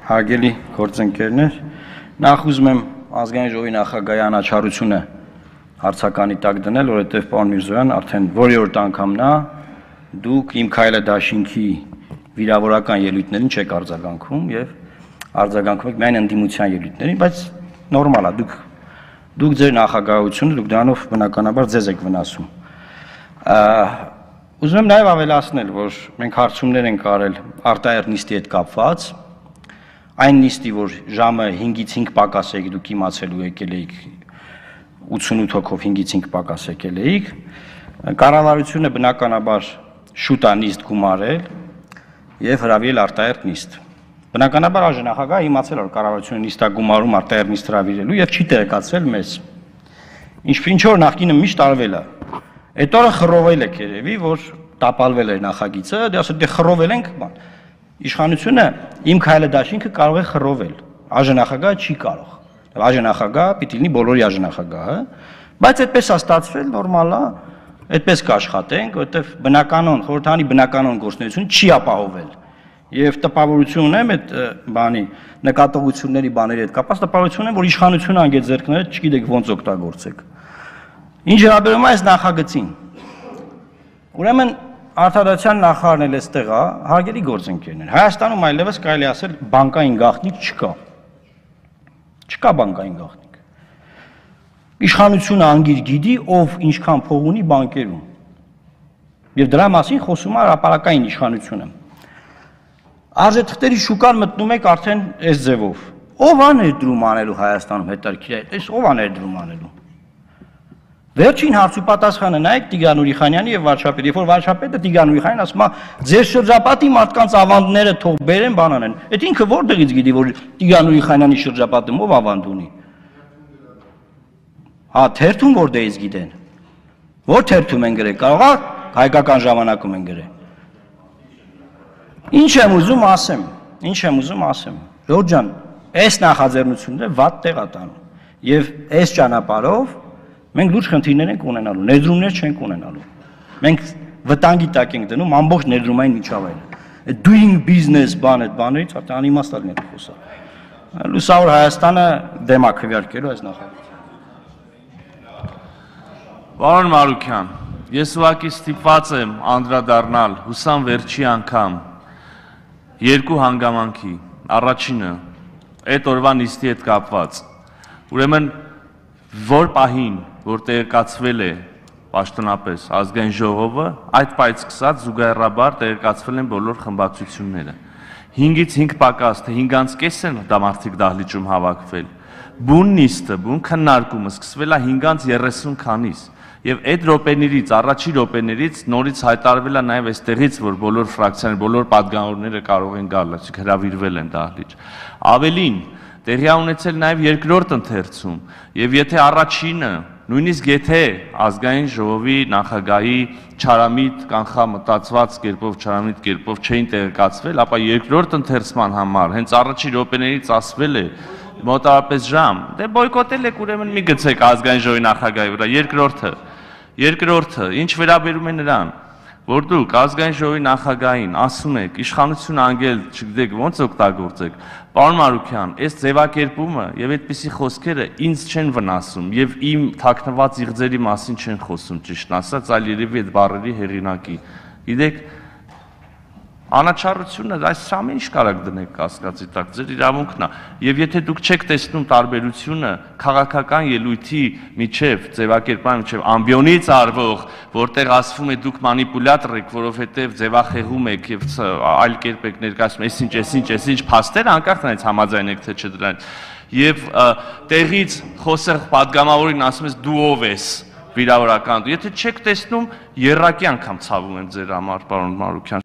Հարգելի գործընկերներ, նախ ուզում եմ ազգային ժողովի նախագահի անաչառությունը հարցականի տակ դնել, որովհետև պարոն Միրզոյան արդեն որի-օրդ անգամն է դուք իմ քայլը դաշինքի վիրավորական ելույթներին չեք արձագանքում եւ արձագանքում եք միայն ընդդիմության ելույթներին, բայց նորմալ է, դուք ձեր նախագահությունը դուք դրանով բնականաբար ձեզ եք վնասում։ Ուզում եմ նաև ավելացնել, որ մենք հարցումներ ենք արել արտահերթ նիստի հետ կապված, այն նիստի, որ ժամը 5-ից 5 պակաս եք դուք իմացել ու եկել էիք 88 հոգով 5-ից 5 պակաս եկել էիք, կառավարությունը բնականաբար շուտ է նիստ գումարել եւ հրավիրել արտահերթ նիստ։ Բնականաբար աժնախագահը իմացել որ կառավարությունը նիստ է գումարում արտահերթ նիստ հրավիրելու եւ չի տեղեկացրել մեզ։ Ինչ որ նախկինը միշտ արվել է։ Այդ օրը խռովել եք երևի, որ տապալվել էր նախագիծը, դե ասել դե խռովել ենք, բան։ Իշխանությունը իմ քայլը դաշինքը կարող է խռովել, աժնախագահը չի կարող։ Աժնախագահը պիտի լինի բոլորի աժնախագահը, բայց այդպես է ստացվել, նորմալ է, այդպես կաշխատենք, որովհետև բնականon, խորհրդանի բնականon գործունեությունը չի ապահովել։ Եվ տպավորություն ունեմ այդ բանի նկատողությունների բաների հետ կապված տպավորություն ունեմ, որ իշխանությունը անգետ ձեռքները չգիտեք ոնց օգտագործեք։ Ինչ վերաբերում է այս նախագծին։ Ուրեմն Արտադրության նախարարն էլ էստեղ է, հարգելի գործընկերներ։ Հայաստանում այլևս կարելի ասել բանկային գաղտնիք չկա։ Չկա բանկային գաղտնիք։ Իշխանությունը անգիր գիտի, ով ինչքան փող ունի բանկերում։ Եվ դրա մասին խոսում է հրապարակային իշխանությունը։ Արժեթղթերի շուկան մտնում եք արդեն այս ձևով։ Ով է ներդրում անելու Հայաստանում հետաքրքիր է, այս ով է ներդրում անելու։ Վերջին հարցու պատասխանը նայեք Տիգրան Ուրիխանյանի եւ վարչապետի, երբ որ վարչապետը Տիգրան Ուրիխանյանին ասում է ձեր շրջապատի մարդկանց ավանդները թող բերեն բանան են։ Այդ ինքը որտեղից գիտի որ Տիգրան Ուրիխանյանի շրջապատում ով ավանդ ունի։ Հա, թերթում որտեղից գիտեն։ Որ թերթում են գրել, կարող է հայկական ժամանակում են գրել։ Ինչ եմ ուզում ասեմ։ Ժողովուրդ ջան, այս նախաձեռնությունները վատ տեղ է տանում։ Եվ այս ճանապարհով մենք լուրջ խնդիրներ ենք ունենալու, ներդրումներ չենք ունենալու։ Մենք վտանգի տակ ենք դնում ամբողջ ներդրումային միջավայրը։ Doing business բան այդ բաներից արդեն անիմաստ լինի խոսա։ Լուսավոր Հայաստանը դեմ է քվեարկելու այս նախագծին։ Պարոն Մարուքյան, ես ուղղակի ստիպված եմ անդրադառնալ հուսամ վերջի անգամ երկու հանգամանքի։ Առաջինը այդ օրվա նիստի հետ կապված։ Ուրեմն որ պահին որ տեղեկացվել է պաշտոնապես ազգային ժողովը, այդ պահից սկսած զուգահեռաբար տեղեկացվել են բոլոր խմբակցությունները։ 5-ից 5 պակաս, թե 5-ից են դա մարդիկ դահլիճում հավաքվել։ Բուն նիստը, բուն քննարկումը սկսվել է 5-30 քանիս։ Եվ այդ րոպեներից, առաջի րոպեներից նորից հայտարարվել է նաև այստեղից, որ բոլոր ֆրակցիաները, բոլոր պատգամավորները կարող են գալ, այսինքն հրավիրվել են դահլիճ։ Ավելին, տեղի է ունեցել նաև երկրորդ ընթերցում, եւ եթե առաջինը, նույնիսկ եթե ազգային ժողովի նախագահի չարամիտ կանխամտածված կերպով չէին տեղեկացվել, ապա երկրորդ ընթերցման համար հենց առաջի րոպեներից ասվել է մոտավորապես ժամ, դե բոյկոտել եք ուրեմն մի գցեք ազգային ժողովի նախագահի վրա, երկրորդը, ինչ վերաբերում է նրան, որ դուք ազգային ժողովի նախագահին ասում եք, իշխանությունը անգել չգիտեք ոնց օգտագործեք, պարոն Մարուքյան, այս ձևակերպումը եւ այդպիսի խոսքերը ինձ չեն վնասում եւ իմ թաքնված իղձերի մասին չեն խոսում ճիշտն ասած, այլ երևի այդ բառերի հեղինակի։ Գիտեք, անաչառությունը այս ամեն ինչ կարակ դնեք կասկածի տակ, ձեր իրավունքն է։ Եվ եթե դուք չեք տեսնում տարբերությունը քաղաքական ելույթի միջև, ձևակերպման միջև ամբիոնից արվող, որտեղ ասվում է դուք մանիպուլյատոր եք, որովհետև ձևախեղում եք եւ այլ կերպ եք ներկայացնում, այսինչ փաստեր, անկախ նրանից համաձայն եք թե չէ դրանից։ Եվ տեղից խոսող պատգամավորին ասում ես դու ով ես վիրավորական դու։ Եթե չեք տեսնում, երրակի անգամ ցավում եմ ձեր համար, պարոն Մարուքյան։